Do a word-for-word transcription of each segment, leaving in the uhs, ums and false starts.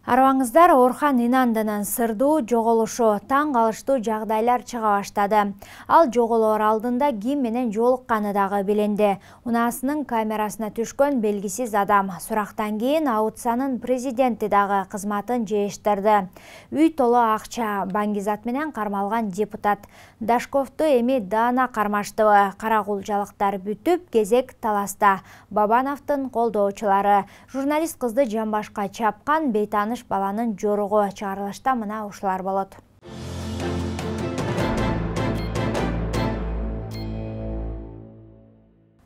Арабаңыздар, Орхан Инандынын сырдуу жоголушу таң калыштуу жагдайлар чыга баштады. Ал жоголоор алдында ким менен жолукканы дагы билинди. Унаасынын камерасына түшкөн белгисиз адам сурактан кийин Аутсанын президенти дагы кызматын жейиштирди. Үй толо акча, баңгизат менен кармалган депутат Дашковду эми даана кармаштыбы? Каракулчалыктар бүтүп, кезек таласта. Бабановдун колдоочулары журналист кызды жамбашка чапкан бейтаныш баланын жоругу чыгарылышта мына ушулар болот.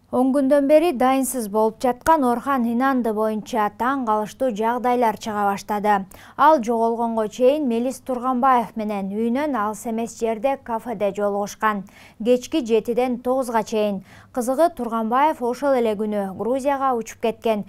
он күндөн бери дайынсыз болуп жаткан Орхан Инанды боюнча таң калыштуу жагдайлар чыга баштады. Ал жоголгонго чейин Мелис Турганбаев менен үйүнөн алыс эмес жерде кафеде жолугушкан. Кечки жетиден тогузга чейин. Кызыгы, Турганбаев ошол эле күнү Грузияга учуп кеткен.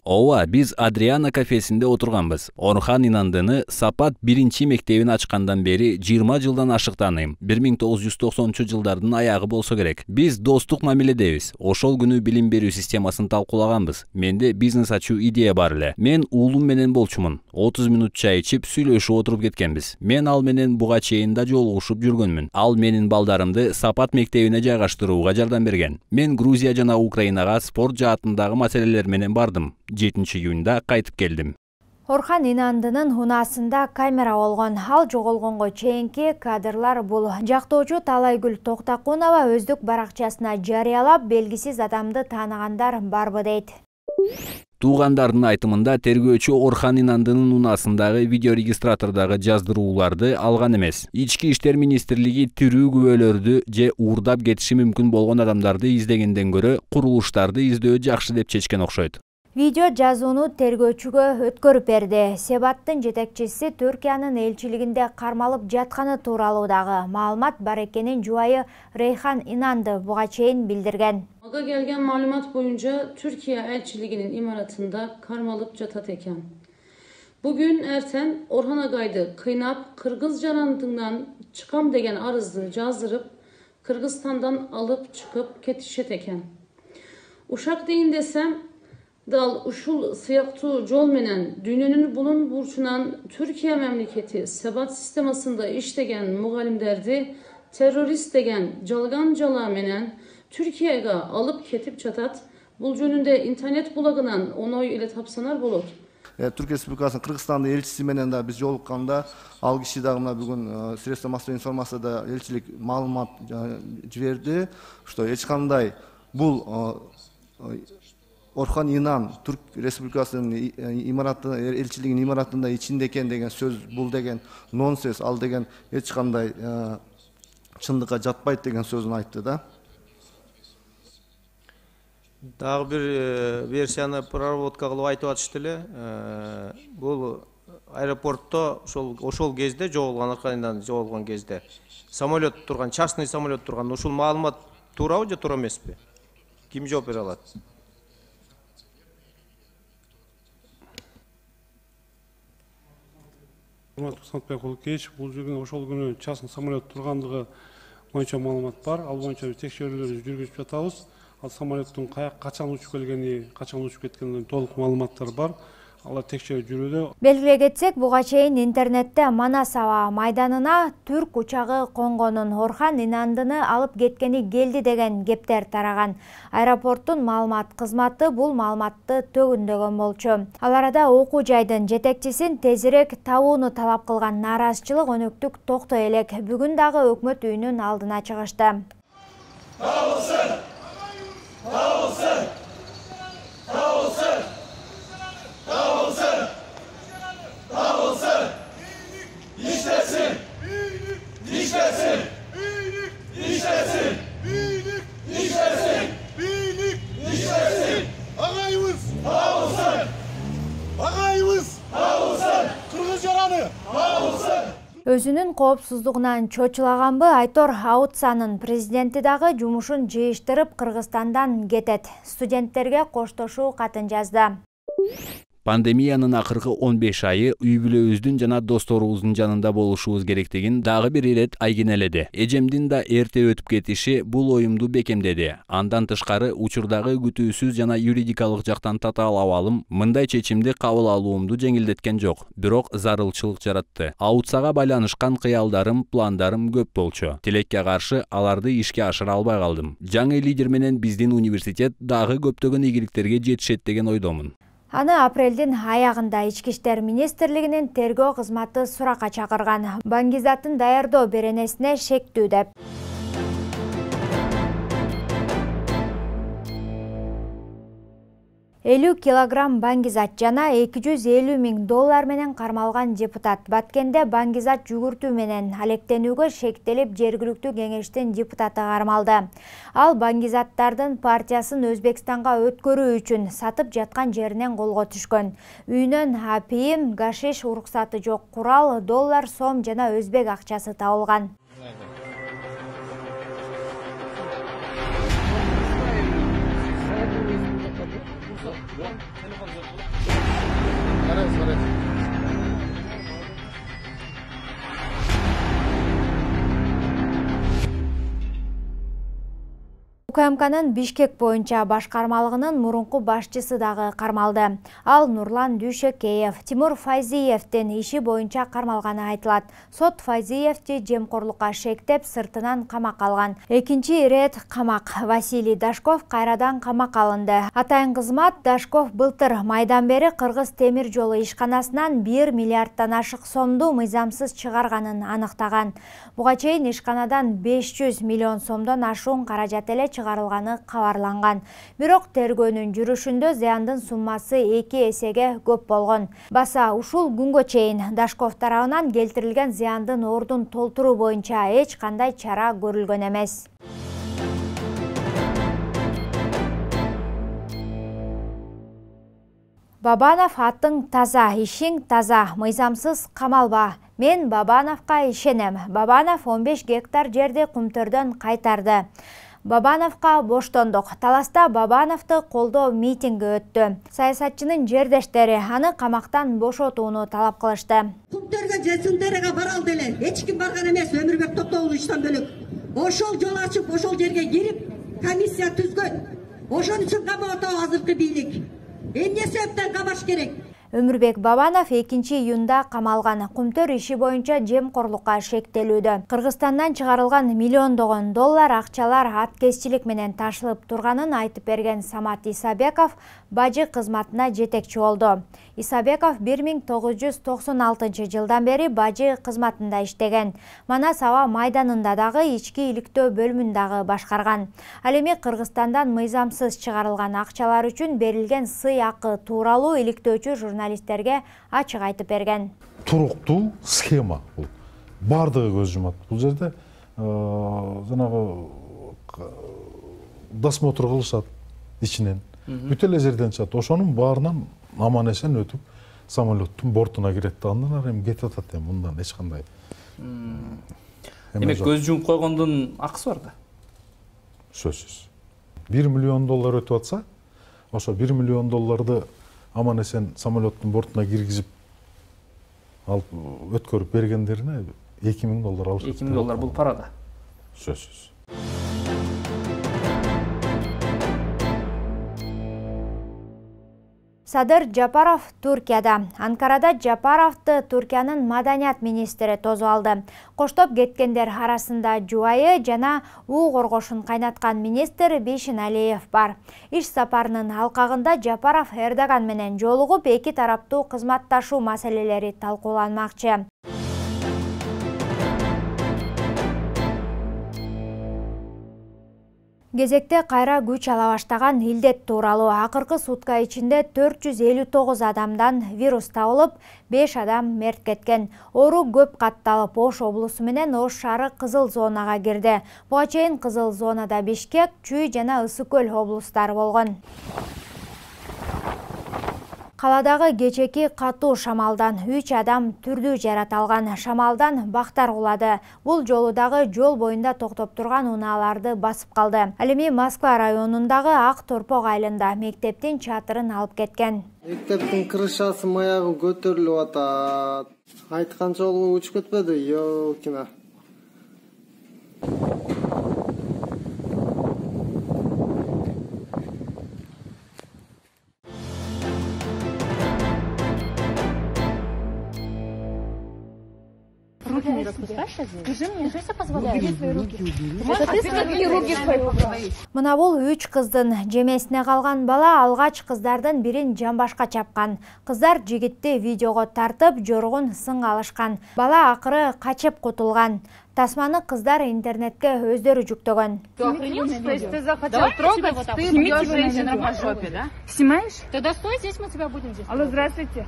Ооба, биз Адриана кафесинде отурганбыз. Орхан Инандыны Сапат биринчи мектебин ачкандан бери жыйырма жылдан ашык тааныйм. бир миң тогуз жүз токсонунчу жылдардын аягы болсо керек. Биз достук мамиледебиз. Ошол күнү билим берүү системасын талкуулаганбыз. Менде бизнес ачуу идея бар эле. Мен уулум менен болчумун. отуз мүнөт чай ичип, сүйлөшүп отуруп кеткенбиз. Мен ал менен буга чейин да жолугушуп жүргөнмүн. Ал менин балдарымды Сапат мектебине жайгаштырууга жардам берген. Мен Грузия жана Украинага спорт жаатындагы маселелер менен бардым. жетинчи июнда кайтып келдим. Орхан Инандынын унаасында камера болгон. Ал жоголгонго чейинки кадрлар бул. Жактоочу Талайгүл Токтакунова өздүк баракчасына жарыялап, белгисиз адамды тааныгандар барбы дейт. Туугандардын айтымында тергөөчү Орхан Инандынын унаасындагы видеорегистратордогу жаздырууларды алган эмес. Ички иштер министрлиги тирүү күбөлөрдү же уурдап кетиши мүмкүн болгон адамдарды издегенден көрө курулуштарды издөө жакшы деп чечкен окшойт. Видео жазууну тергөөчүгө өткөрүп берди. Себаттын жетекчиси Түркиянын элчилигинде кармалып жатканы тууралуу дагы маалымат бар экенин жубайы Рейхан Инанды буга чейин билдирген. Ага келген маалымат боюнча Türkiye elçiliğinin imaratında karmalıp jatat eken. Bugün erten Orhan Agay'dı kıynap Kırgız janantından çıkam degen arızdı jazdırıp Kırgızstan'dan alıp çıkıp ketişet eken. Uşak deyin desem dal uşul sıyaktu jol menen dününün bulun burçunan Türkiye memleketi sebat sistemasında iştegen mugalimderdi terörist degen jalgan jala menen Türkiye'ye alıp ketip çatat, bul jönünde internet bulagынан onoy ile tapsanar bolot. Türkiye Respublikasынын Kırgızstanda elçisi менен да биз жолукканда, ал киши дагы мына бүгүн средства массовой информацияда элчилик маалымат жиберди, что эч кандай бул Орхан Инан Türk Respublikasынын имараты элчилигинин имаратында ичинде экен деген сөз, бул деген нонсенс, ал деген эч кандай чындыкка жатпайт деген сөзүн айтты да. Дагы бир версияны проработка кылып айтып атышты эле. Бул аэропортто ошол ошол кезде жоголгон, Орхан жоголгон кезде самолет турган, частный самолет турган. Ушул маалымат туурабы же туура эмеспи? Ким жооп бере алат? Сантбек Улукевич, бул жерде ошол күнү частный самолет тургандыгы боюнча маалымат бар. Ал боюнча текшерүүлөрдү жүргүзүп жатабыз. Ал самолеттин качан учуп келгени, качан учуп кеткенин толук маалыматтар бар. Алар текшерип жүрүүдө. Белгилей кетсек, буга чейин интернетте Манас аба майданына түрк учагы конгонун, Орхан Инандыны алып кеткени келди деген кептер тараган. Аэропорттун маалымат кызматы бул маалыматты төгүндөгөн болчу. Ал арада окуу жайдын жетекчисин тезирээк табууну талап кылган нааразычылык өнөктүк токтой элек. Бүгүн дагы өкмөт үйүнүн алдына чыгышты. Табылсын! Табылсын! Табылсын! Табылсын! Табылсын! İşlesin! İşlesin! İşlesin! İşlesin! İşlesin! Ağayımız! Табылсын! Ağayımız! Табылсын! Kırgız yaranı! Табылсын! Өзүнүн коопсуздугунан чочулаганбы Айтор Аутсанын президенти дагы жумушун жыйыштырып Кыргызстандан кетет. Студенттерге коштошуу катын жазды. Пандемиянын акыркы он беш айы үй бүлөбүздүн жана досторубуздун жанында болушубуз керектигин дагы бир ирет айгинеледи. Эжемдин да эрте өтүп кетиши бул оюмду бекемдеди. Андан тышкары учурдагы күтүүсүз жана юридикалык жактан татаал абалым мындай чечимди кабыл алуумду жеңилдеткен жок, бирок зарылчылык жаратты. Аутсага байланышкан кыялдарым, пландарым көп болчу. Тилекке каршы аларды ишке ашыра албай калдым. Жаңы лидер менен биздин университет дагы көптөгөн ийгиликтерге жетишет деген ойдомун. Аны апрелдин аягында Ички иштер министрлигинин тергөө кызматы суракка чакырган. Баңгизаттын даярдоо беренесине шектүү деп. элүү килограмм баңгизат жана эки жүз элүү миң доллар менен кармалган депутат Баткенде баңгизат жүгүртүү менен алектенүүгө шектелип жергиликтүү кеңештин депутаты кармалды. Ал баңгизаттардын партиясын Өзбекстанга өткөрүү үчүн сатып жаткан жеринен колго түшкөн. Үйүнөн апийим, гашиш уруксаты жок курал, доллар, сом жана өзбек акчасы табылган. УКМКнын Бишкек боюнча башкармалыгынын мурунку башчысы дагы кармалды. Ал Нурлан Дүйшөкеев, Тимур Файзиевдин иши боюнча кармалганы айтылат. Сот Файзиевди жемкорлукка шектеп сыртынан камакка алган. Экинчи ирет камак. Василий Дашков кайрадан камакка алынды. Атайын кызмат Дашков былтыр майдан бери Кыргыз темир жолу ишканасынан бир миллиардтан ашык сомду мыйзамсыз чыгарганын аныктаган. Буга чейин ишканадан беш жүз миллион сомдон ашуун каражат эле чыгарылганы кабарланган. Бирок тергөөнүн жүрүшүндө зыяндын суммасы эки эсеге көп болгон. Баса ушул күнгө чейин Дашков тарабынан келтирилген зыяндын ордун толтуруу боюнча эч кандай чара көрүлгөн эмес. Бабанов аттың таза, ишиң таза, мыйзамсыз камалба. Мен Бабановка ишенем. Бабанов он беш гектар жерди Кумтөрдөн кайтарды. Бабановка боштондук. Таласта Бабановду колдоо митинги өттү. Саясатчынын жердештери аны камактан бошотууну талап кылышты. Кумтөргө Жесундерге баралды эле. Эч ким барган эмес, Өмүрбек Токтогул иштен бөлөк. Ошол жол ачып, ошол жерге кирип, комиссия түзгөн. Ошон үчүн камап азыркы бийлик. Эмне себептен камаш керек? Өмүрбек Бабанов экинчи июнда камалган. Кумтөр иши боюнча жемкорлукка шектелүүдө. Кыргызстандан чыгарылган миллиондогон доллар акчалар аткезчилик менен ташылып турганын айтып берген Самат Исабеков бажы кызматына жетекчи болду. Исабеков бир миң тогуз жүз токсон алтынчы жылдан бери бажы кызматында иштеген. Манас аба майданында дагы ички иликтөө бөлүмүн дагы башкарган. Ал эми Кыргызстандан мыйзамсыз чыгарылган акчалар үчүн берилген сый акы тууралуу иликтөөчү журналисттерге ачык айтып берген. Туруктуу схема бул. Бардыгы көз жумат. Бул жерде жанагы досмотр кылышат ичинен. Бүт эле жерден чыгат. Ошонун баарынан аман эсен өтүп самолеттун бортуна кирет. Андан ары эми кетип атат эми мындан эч кандай. Демек көз жумуп койгондун акысы бар да? Сөзсүз. бир миллион доллар өтүп атса, ошо бир миллион долларды аман эсен самолеттун бортуна киргизип алып өткөрүп бергендерине эки миң доллар алышат. эки миң доллар бул пара да. Сөзсүз. Садыр Жапаров Туркияда. Анкарада Жапаровду Туркиянын маданият министри тосуп алды. Коштоп кеткендер арасында жубайы жана уу коргошун кайнаткан министр Бишин Алиев бар. Иш сапарынын алкагында Жапаров Эрдоган менен жолугуп, эки тараптуу кызматташуу маселелери талкууланмакчы. Кезекте кайра күч ала баштаган илдет тууралуу акыркы сутка ичинде төрт жүз элүү тогуз адамдан вирус табылып, беш адам мерт кеткен. Оору көп катталып, Ош облусу менен Ош шаары кызыл зонага кирди. Буга чейин кызыл зонада Бишкек, Чүй жана Ысык көл облустары болгон. Каладагы кечеки катуу шамалдан үч адам түрдүү жараталган. Шамалдан бактар кулады. Бул жолу дагы жол боюнда токтоп турган унааларды басып калды. Ал эми Москва районундагы Ак Торпок айылында мектептин чатырын алып кеткен. Мектептин крышасы маягы көтөрүлүп атат. Айткан жолу учуп кетпеди, ёкина. Руки не распускай сейчас. Скажи мне, что я позволяю? Убери свои руки. Это ты свои руки свои. Мына бул үч кыздын жемесине калган бала алгач кыздардын бирин жамбашка чапкан. Кыздар жигитти видеого тартып, жоргун сынга алышкан. Бала акыры качып кутулган. Тасманы кыздар интернетке өздөрү жүктөгөн. Ты захотел трогать, ты бьешь женщину по жопе, да? Снимаешь? Тогда стой здесь, мы тебя будем здесь. Алло, здравствуйте.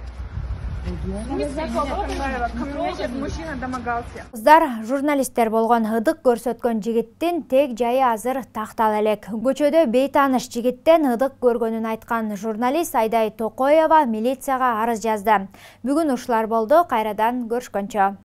Кыздар журналисттер болгон, ыдык көрсөткөн жигиттин тег жайы азыр тактал элек. Көчөдө бейтааныш жигиттен ыдык көргөнүн айткан журналист Айдай Токоева милицияга арыз жазды. Бүгүн ушулар болду, кайрадан көрүшкөнчө.